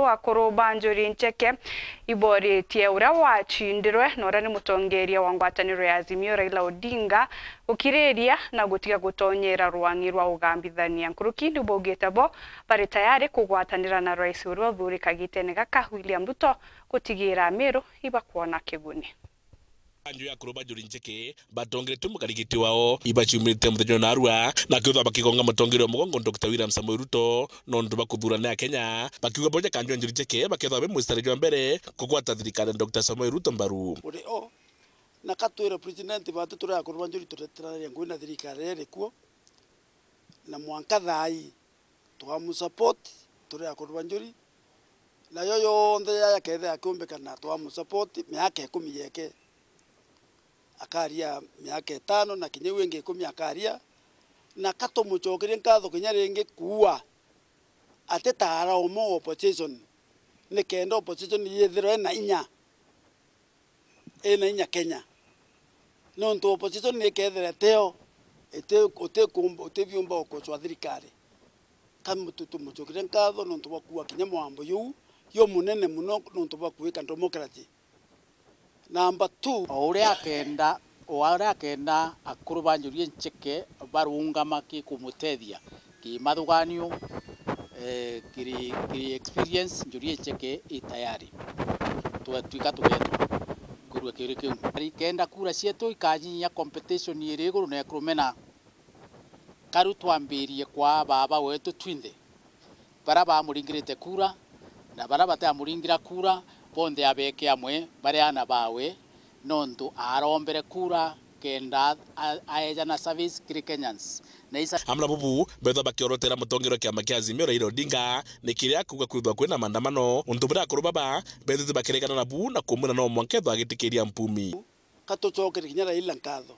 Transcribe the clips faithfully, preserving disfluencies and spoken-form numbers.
Akuru ba Njuri Ncheke iboritie uria wacindirwe na uria ni mutongeria wa ngwataniro ya Azimio Raila Odinga gukiriria na gutiga gutonyera rwang'i rwa ugambithania. Nkuruki ni baugite bo bari tayari kugwatanira na rais uria uthurika gitene gaka William Ruto gutigira Amiru ibakwona kiguni. Kanju ya akuru ba Njuri Ncheke batongeretue mukarigiti wao ibaciumite muthenya wa narua, na kwithwa bakigonga mutongeria wa mugongo Doctor William Samoei Ruto nontu bwa kuthurana ya Kenya, bakiuga bo ja kanju ya Njuri Ncheke bakethwa be mustari jwa mbere kugwata thirikari ya Doctor Samoei Ruto mbaru. Uri o, na ka twire president batu turi akuru ba Njuri tureterania ngugi na thirikari iri kuo, na mwanka thaa ii twamusupport turi akuru ba Njuri, nayo yonthe yaya kethira akiumbikana twamusupport miaka ikumi yeke, akaria miaka itano na kinya iu ingi ikumi akaria, na ka tumucokerie nkatho kinya ringi kuua ati ta ara umwe wa opposition, nikenda opposition yithirwe ina inya, ina inya Kenya. Nontu opposition ni ikethira itio, iti-, utikumba-, utibiumba gukochwa thirikari. Ka mutu-, tumucokerie nkatho nontu bwa kuua kinya mwambo juu jumunene muno nontu bwa kuika democracy. Number two. O uria akenda, o uria akenda akuru ba Njuri Ncheke barungama ki kumutethia kimathuganio, eh, kiri, kiri experience, Njuri Ncheke i tayari. Twatuika tugetwa kwirua kiuri kiu. Kenda kura cietu ikanyia competition iri iguru na ikurumena. Karu twambirie kwa baba wetu twinthe, bara bamuringirite kura na bara batamuringira kura, bonthe abeke amwe bari ana bawe, nontu aarombere kura kenda a-, aejana service kiri Kenyans. Na isa- Amwe na bubu, bethwa bakiorotera mutongeria wa kiama kia Azimio Raila Odinga, ni kiria akuuga kwithwa kwina maandamano, untu buria akuru baba bethitwe bakiregana nabu na kumwira no mwanka ethwa agitikiria mpumi. Ka tucokere kinya Raila nkatho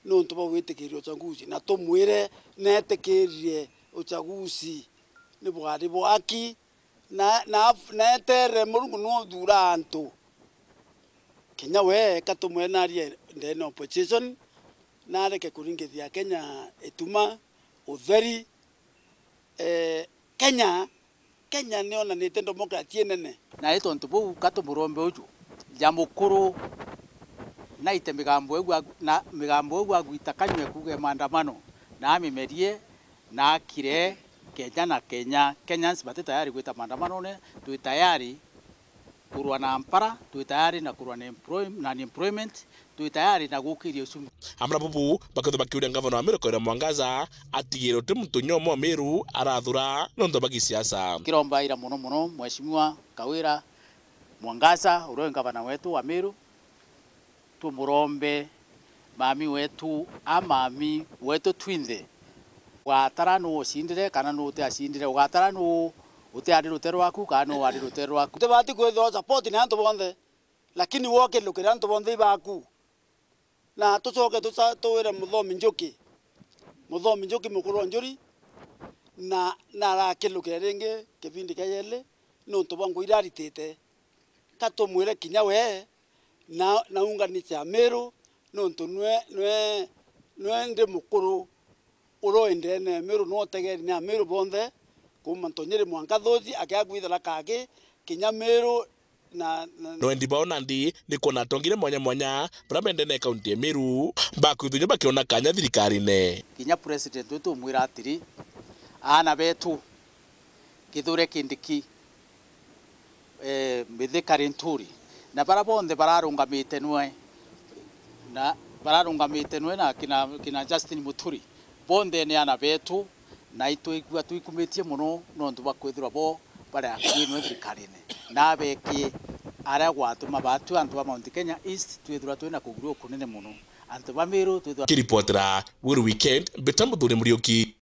nontu bwa gwitikiria uchaguzi, na tumwire neetikirie uchaguzi ni bwari bwa aki, na, na, na etere Murungu niwe uthuura antu. Kinya we ka tumwire narie ndene opposition, nareke kuringithia Kenya ituma, utheri, eh, Kenya, Kenya nionanite democracy inene. Na i tontu buu, ka tumurombe uju, ja mukuru, naite migambo iu agu-, na migambo iu agwita kanywe kuuge maandamano, na amimerie, na akire, Kenya na Kenya. Kenyans bati tayari gwita maandamanone, twi tayari kurua na mpara, twi tayari na kurua na employ-, na unemployment, twi tayari na gukiria uchumi. Amwe na bubu, bakethwa bakiuria ngavana wa Meru Kawira Mwangaza atigire uti muntu nyomwe wa Meru arathura nontu bwa gisiasa. Kiromba ira mono mono Mheshimiwa Kawira Mwangaza, uria wi ngavana wetu wa Meru, tumurombe mami wetu, a mami wetu twinthe. Ugatara nuu ucindire kana nuu utiacindire, ugatara nuu utiari rute rwaku kana nuu wari rute rwaku. Utibati kwithirwa support ni antu bonthe, lakini wokilukire antu bonthe ibaku. Na tucoke tuca-, tuwire Muthomi Njuki, Muthomi Njuki mukuru wa Njuri, na, na arakilukire ringi kibindi kia yeli, nontu bwa ngugi iria aritite. Ka tumwire kinya we, na, na unganisha Amiru, nontu nwe, nwe, nwe ndi mukuru uria wi ndene ya Amiru, nwe utegeri ni Amiru bonthe, kuuma Ntonyiri mwanka Thuthi, akia kwithira Kaki, kinya Amiru na, na. Nwendi bao nandi ni kwona atongire mwanya mwanya bara bendene kaunti ya Meru, bakwithwa bakiona kanya thirikarine. Kinya president wetu umwira atiri, aana betu, Kithure Kindiki, eh, Mithika Linturi, na bara bonthe bararungamite nwe, na bararungamite nwe na kina, kina Justin Muturi, bonthe ni ana betu, na itwigua twikumitie mono nontu bwa kwithirwa bo bari akui nwe thirikarine, na abekie aria gwatuma batwi antu ba Mount Kenya East twithirwa twina kugurua kunene mono. Antu ba Meru twithirwa. Kiripotera Weru Weekend, mbita Muthuri Muriuki.